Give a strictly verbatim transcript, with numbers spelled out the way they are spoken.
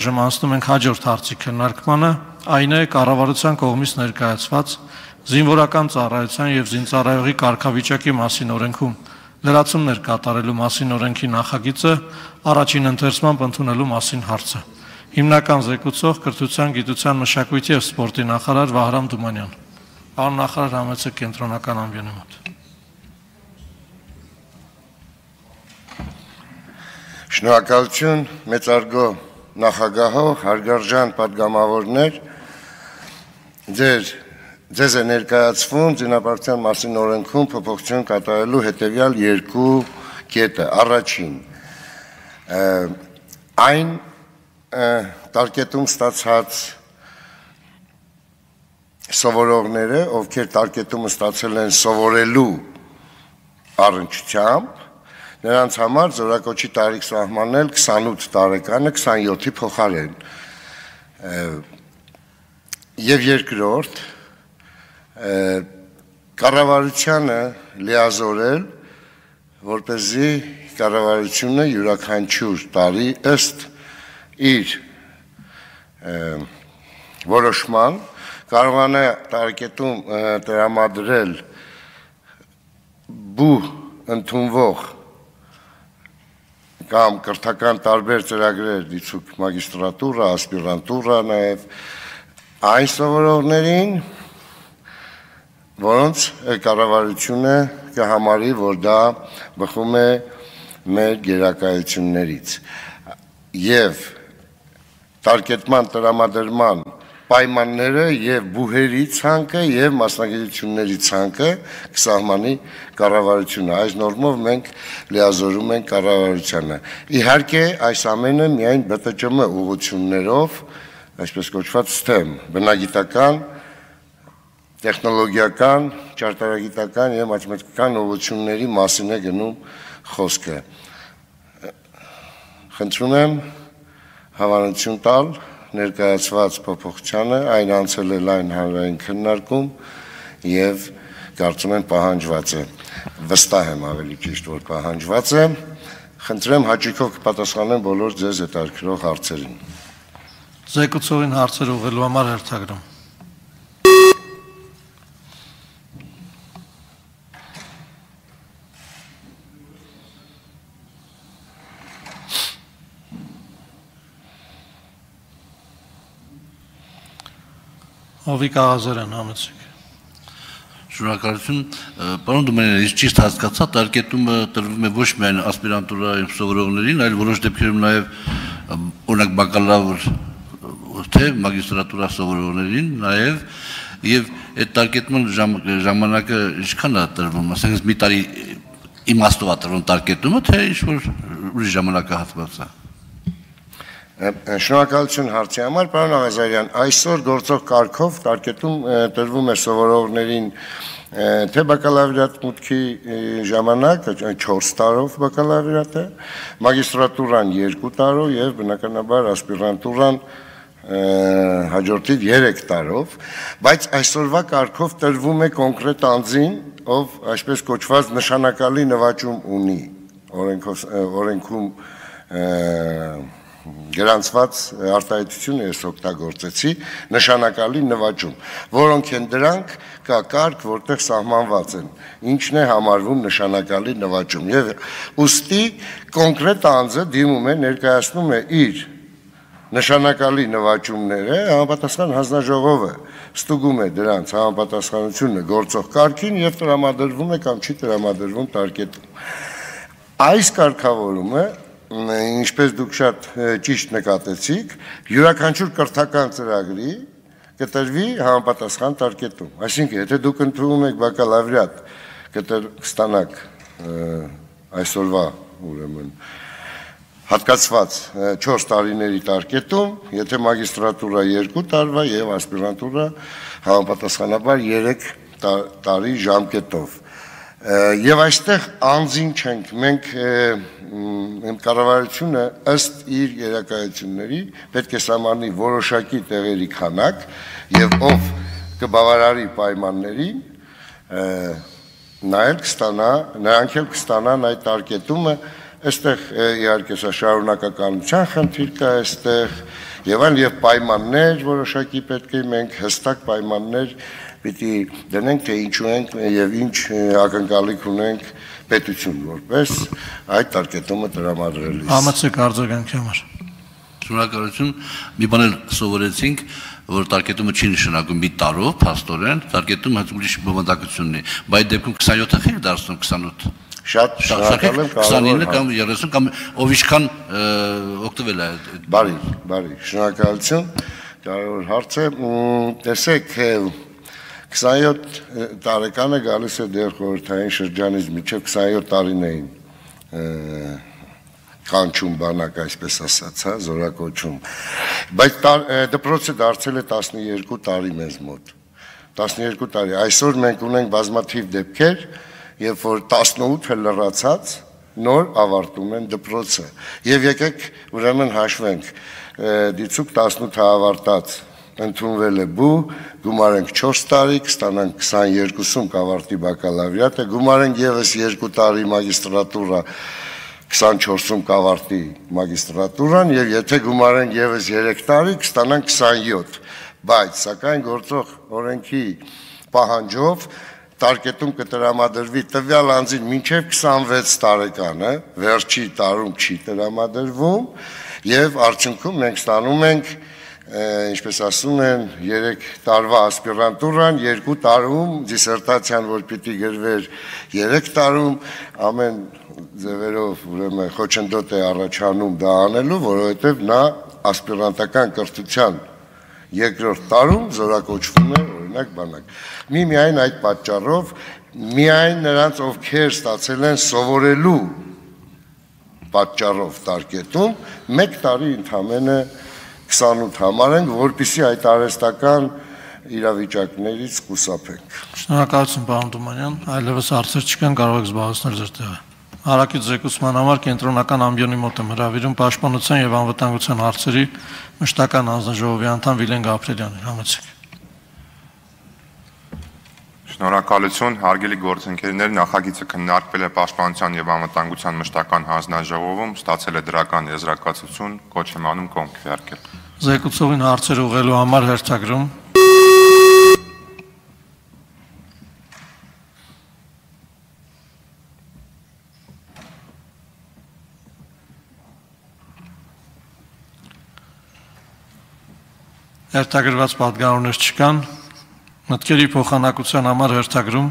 այժմ անցնում ենք հաջորդ հարցի քննարկմանը, այն է կառավարության կողմից ներկայացված զինվորական ծառայության և զինծառայողի կարգավիճակի մասին օրենքում լրացումներ կատարելու մասին օրենքի նախագիծը առաջին ընթերցմամբ ընդունելու մասին հարցը։ Հիմնական զեկուցող կրթության, գիտության, մշակույթի և սպորտի նախարար Վահրամ Թումանյան։ Պարոն նախարար, համեցեք կենտրոնական ամբիոնի մոտ։ Շնորհակալություն, մեծարգո նախագահող, հարգարժան պատգամավորներ, ձեր ձեզ է ներկայացվում զինապարտության մասին օրենքում փոփոխություն կատարելու հետևյալ երկու կետը։ Առաջին, այն տարկետում ստացած սովորողները, ովքեր տարկետումը ստացել են սովորելու առնչությամբ, նրանց համար զորակոչի տարիք սահմանել քսանութ տարեկանը քսանյոթի փոխարեն։ Եվ երկրորդ, կառավարությանը լիազորել, որպեսզի կառավարությունը յուրաքանչյուր տարի ըստ իր որոշման կարողանա տարկետում տրամադրել բուհ ընդունվող կամ կրթական տարբեր ծրագրեր դիցուք մագիստրատուրա, ասպիրանտուրա, նաև այն սովորողներին, որոնց կառավարությունը կհամարի, որ դա բխում է մեր գերակայություններից եւ տարկետման տրամադրման պայմանները եւ բուհերի ցանկը եւ մասնագիտությունների ցանկը կսահմանի կառավարությունը։ Այս նորմով մենք լիազորում ենք կառավարությանը։ Իհարկե, այս ամենը միայն B T Չ M ուղղություններով, այսպես կոչված STEM, բնագիտական, տեխնոլոգիական, ճարտարագիտական եւ մաթեմատիկական ուղղությունների մասին է գնում խոսքը։ Խնդրում եմ հավանություն տալ ներկայացված փոփոխությանը, այն անցել է լայն հանրային քննարկում եւ կարծում եմ պահանջված է, վստահ եմ ավելի ճիշտ, որ պահանջված է, խնդրեմ հաճույքով կպատասխանեմ բոլոր ձեզ հետաքրքրող հարցերին։ Զեկուցողին հարցեր ուղղելու համար հերթագրում։ Հովիկ Աղազարյան, համեցեք։ Շնորհակալություն, պարոն Թումանյան, ես ճիշտ հասկացա, տարկետումը տրվում է ոչ միայն ասպիրանտուրայի սովորողներին, այլ որոշ դեպքերում նաև օրինակ բակալավր թե մագիստրատուրա սովորողներին, նաև եւ այդ տարկետման ժամանակը ինչքան է տրվում, ասենք մի տարի իմաստով է տրվում տարկետումը, թե ինչ որ ուրիշ ժամանակահատված է։ Շնորհակալություն հարցի համար, պարոն Աղազարյան, այսօր գործող կարգով տարկետում տրվում է սովորողներին թե բակալավրիատ մուտքի ժամանակ, չորս տարով բակալավրիատը, մագիստրատուրան երկու տարով եւ բնականաբար ասպիրանտուրան հաջորդիվ երեք տարով, բայց այսօրվա կարգով տրվում է կոնկրետ անձին, ով այսպես կոչված նշանակալի նվաճում ունի օրենքում գրանցված արտահայտությունը ես օգտագործեցի, նշանակալի նվաճում, որոնք են դրանք կա կարգ, որտեղ սահմանված են, ինչն է համարվում նշանակալի նվաճում եւ ուստի կոնկրետ անձը դիմում է, ներկայացնում է իր նշանակալի նվաճումները, համապատասխան հանձնաժողովը ստուգում է դրանց համապատասխանությունը գործող կարգին եւ տրամադրվում է կամ չի տրամադրվում տարկետում։ Այս կարգավորումը, ինչպես դուք շատ ճիշտ նկատեցիք, յուրաքանչյուր կրթական ծրագրի կտրվի համապատասխան տարկետում։ Այսինքն, եթե դուք ընդունում եք բակալավրիատ, կստանաք այսօրվա, ուրեմն, հատկացված չորս տարիների տարկետում, եթե մագիստրատուրա երկու տարվա եւ ասպիրանտուրա համապատասխանաբար երեք տարի ժամկետով։ Եվ այստեղ անձին չենք, մենք կառավարությունը ըստ իր գերակայությունների պետք է սահմանի որոշակի տեղերի քանակ եւ ով կբավարարի պայմաններին, նա էլ կստանա, նրանք էլ կստանան այդ տարկետումը այստեղ իհարկե սա շարունակականության խնդիր կա այստեղ եւ այլ եւ պայմաններ որոշակի պետք է մենք հստակ պայմաններ պիտի դնենք թե ինչու ենք եւ ինչ ակնկալիք ունենք պետություն որպես այդ տարկետումը տրամադրելիս։ Համեցեք արձագանքի համար։ Շնորհակալություն։ Մի բան էլ սովորեցինք, որ տարկետումը չի նշանակում մի տարով, փաստորեն, տարկետումը հենց ուրիշ բովանդակությունն է։ Բայց դեպքում քսանյոթը խիր դարձնում քսանութ։ Շատ շնորհակալ եմ, քսանինը կամ երեսուն կամ ով ինչքան օգտվել է։ Բարի, բարի, շնորհակալություն։ Կարևոր հարց է։ Տեսեք, քսանյոթ տարեկանը գալիս է դեռ խորհրդային շրջանից մինչև քսանյոթ տարիներին կանչում բանակ, այսպես ասած, հա, զորակոչում։ Բայց դպրոցը դարձել է տասնյոթ տարի մեզ մոտ։ տասնյոթ տարի։ Այսօր մենք ունենք բազմաթիվ դեպքեր, երբ որ տասնութը լրացած նոր ավարտում են դպրոցը։ Եվ եկեք ուրեմն հաշվենք, դիցուկ տասնութը ավարտած ընդունվել է բու, գումարենք չորս տարի, կստանանք քսաներկուսում կավարտի բակալավրիատը, գումարենք եւս երկու տարի մագիստրատուրա, քսանչորսում կավարտի մագիստրատուրան եւ եթե գումարենք եւս երեք տարի կստանանք քսանյոթ, բայց սակայն գործող օրենքի պահանջով տարկետում կտրամադրվի տվյալ անձին մինչև քսանվեց տարեկանը, վերջի տարում չի տրամադրվում եւ արդյունքում մենք ստանում ենք ինչպես ասում են երեք տարվա ասպիրանտուրան, երկու տարում դիսերտացիան որ պիտի գրվեր երեք տարում ամեն ձևերով ուրեմն խոչընդոտ է առաջանում դա անելու, որովհետև նա ասպիրանտական կրթության երկրորդ տարում զորակոչվում է օրինակ բանակ։ Մի միայն այդ պատճառով միայն նրանց ովքեր ստացել են սովորելու պատճառով տարկետում մեկ տարի ընդամենը քսանութ համարենք, որպեսզի այդ արհեստական իրավիճակներից խուսափենք։ Շնորհակալություն պարոն Թումանյան, այլևս հարցեր չկան, կարող եք զբաղեցնել ձեր տեղը։ Հարակից զեկուցման համար կենտրոնական ամբիոնի մոտ եմ հրավիրում պաշտպանության եւ անվտանգության հարցերի մշտական հանձնաժողովի անդամ Վիլեն Գաբրելյանին, համեցեք։ Շնորհակալություն, հարգելի գործընկերներ, նախագիծը քննարկվել է պաշտպանության եւ անվտանգության մշտական հանձնաժողովում, ստացել է դրական եզրակացություն, կոչ եմ անում կողմ քվեարկել։ Զեկուցողին հարցեր ուղղելու համար հերթագրում։ Հերթագրված պատգամավորներ չկան, մտքերի փոխանակության համար հերթագրում